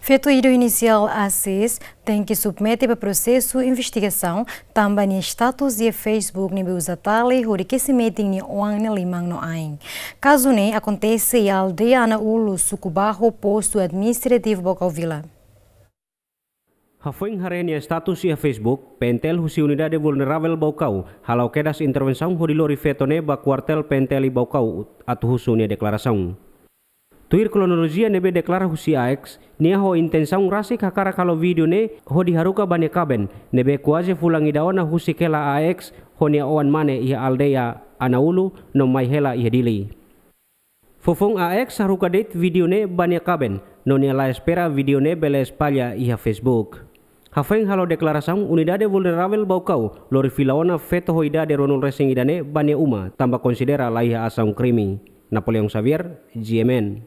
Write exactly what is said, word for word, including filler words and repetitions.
Feto ida inisiál Asis tenke submete ba prosesu investigasaun tanba nia status iha Facebook ne'ebé uza tali hodi kesi metin nia oan nia liman no ain. Kazu ne'e akontese iha aldeia Anaulu, suku Baho, postu administrativu Baucau Vila. Hafoin haree nia status iha Facebook, P N T L husi Unidade Vulneravel Baucau hala'o kedas intervensaun hodi lori feto ne'e ba kuartél P N T L iha Baucau atu husu nia deklarasaun. Tuir kronolojia ne'ebé deklara husi A X, nia ho intensaun rasik hakarak halo vídeo ne'e hodi haruka ba nia kaben ne'ebé kuaze fulan ida ona husik hela A X ho nia oan mane iha aldeia Anaulu no mai hela iha Dili. Foufoun A X haruka de'it vídeo ne'e ba nia kaben, no nia la espera vídeo ne'e bele espalla iha Facebook. Hafoin halo deklarasaun, Unidade Vulneravel Baucau lori fila ona feto ho idade ruanulu resin ida ne'e ba nia uma tanba konsidera laiha asaun krime. Napoleão Xavier, G M N.